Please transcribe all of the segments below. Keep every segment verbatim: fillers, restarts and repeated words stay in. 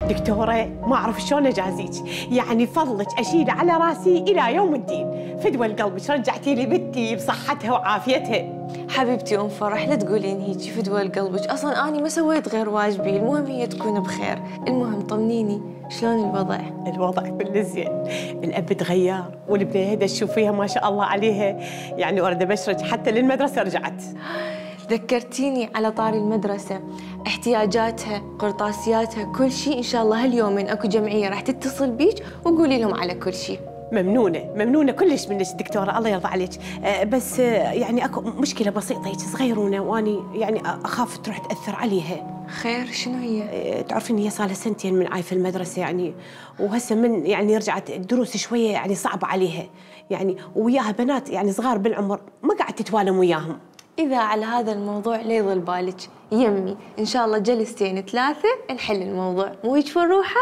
دكتورة ما أعرف شلون أجازيك، يعني فضلك أشيل على راسي إلى يوم الدين. فدوى لقلبك رجعتي لي بنتي بصحتها وعافيتها. حبيبتي أم فرح لا تقولين هيجي، فدوى لقلبك، أصلاً أنا ما سويت غير واجبي، المهم هي تكون بخير. المهم طمنيني شلون الوضع؟ الوضع كله زين، الأب تغير والبنية هذا تشوفيها ما شاء الله عليها، يعني أريد أبشرك حتى للمدرسة رجعت. ذكرتيني على طاري المدرسة، احتياجاتها، قرطاسياتها، كل شيء إن شاء الله هاليومين أكو جمعية راح تتصل بيك وقولي لهم على كل شيء. ممنونة ممنونة كلش منك دكتورة، الله يرضى عليك. أه بس أه يعني اكو مشكلة بسيطة هيك صغيرونة، واني يعني اخاف تروح تأثر عليها. خير شنو هي؟ أه تعرفين هي صار لها سنتين من عايفة المدرسة يعني، وهسه من يعني رجعت الدروس شوية يعني صعبة عليها، يعني وياها بنات يعني صغار بالعمر ما قاعد تتوالم وياهم. إذا على هذا الموضوع لا يضل بالك، يمي إن شاء الله جلستين ثلاثة نحل الموضوع، مو هيك فروحة؟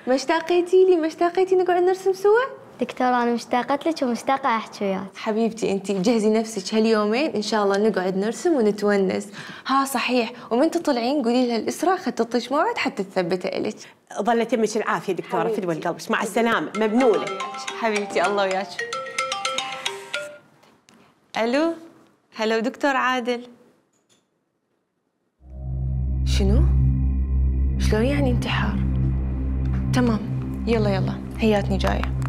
ما اشتاقيتي لي؟ ما اشتاقيتي نقعد نرسم سوا؟ دكتورة أنا مشتاقة لك ومشتاقة أحكي وياك. حبيبتي أنتي جهزي نفسك هاليومين إن شاء الله نقعد نرسم ونتونس. ها صحيح، ومن تطلعين قولي لها الإسراء خططش موعد حتى تثبته إلك. ظلت يمك العافية دكتورة، فدوى لقلبك، مع السلامة، ممنونة. حبيبتي الله وياك. ألو، هلو دكتور عادل. شنو؟ شلون يعني انتحار؟ تمام، يلا يلا هياتني جاية.